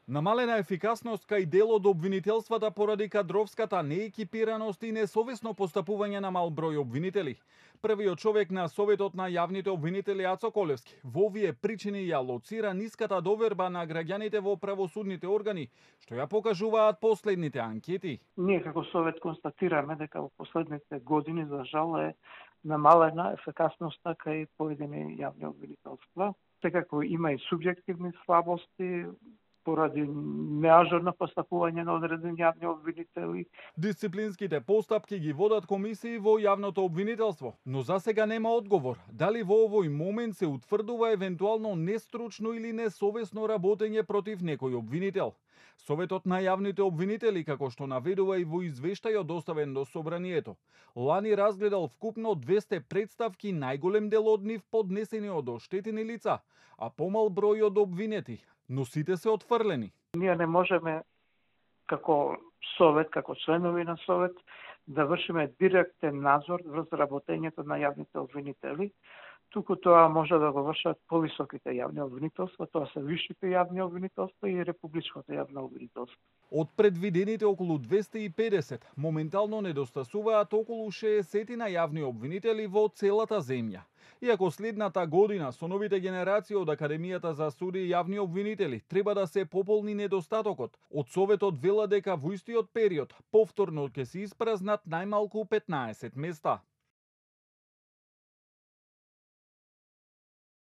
Намалена ефикасност кај дел од обвинителствата поради кадровската неекипираност и несовесно постапување на мал број обвинители. Првиот човек на Советот на јавните обвинители Ацо Колевски во овие причини ја лоцира ниската доверба на граѓаните во правосудните органи, што ја покажуваат последните анкети. Ние како Совет констатираме дека во последните години за жал е намалена ефикасноста кај поедини јавни обвинителства. Секако има и субјективни слабости поради неажурно постапување на одредени јавни обвинители. Дисциплинските постапки ги водат комисии во јавното обвинителство, но за сега нема одговор дали во овој момент се утврдува евентуално нестручно или несовесно работење против некој обвинител. Советот на јавните обвинители, како што наведува и во извештајот доставен до собранието, лани разгледал вкупно 200 представки, најголем дел од нив поднесени од оштетени лица, а помал број од обвинети, но сите се отфрлени. Ние не можеме како Совет, како членови на Совет, да вршиме директен надзор врз работењето на јавните обвинители, туку тоа може да го вршат повисоките јавни обвинителства, тоа се висшите јавни обвинителства и републичкото јавно обвинителство. Од предвидените околу 250, моментално недостасуваат околу 60 на јавни обвинители во целата земја. Иако следната година со новите генерации од Академијата за суди и јавни обвинители треба да се пополни недостатокот, од Советот вела дека во истиот период повторно ќе се испразнат најмалку 15 места.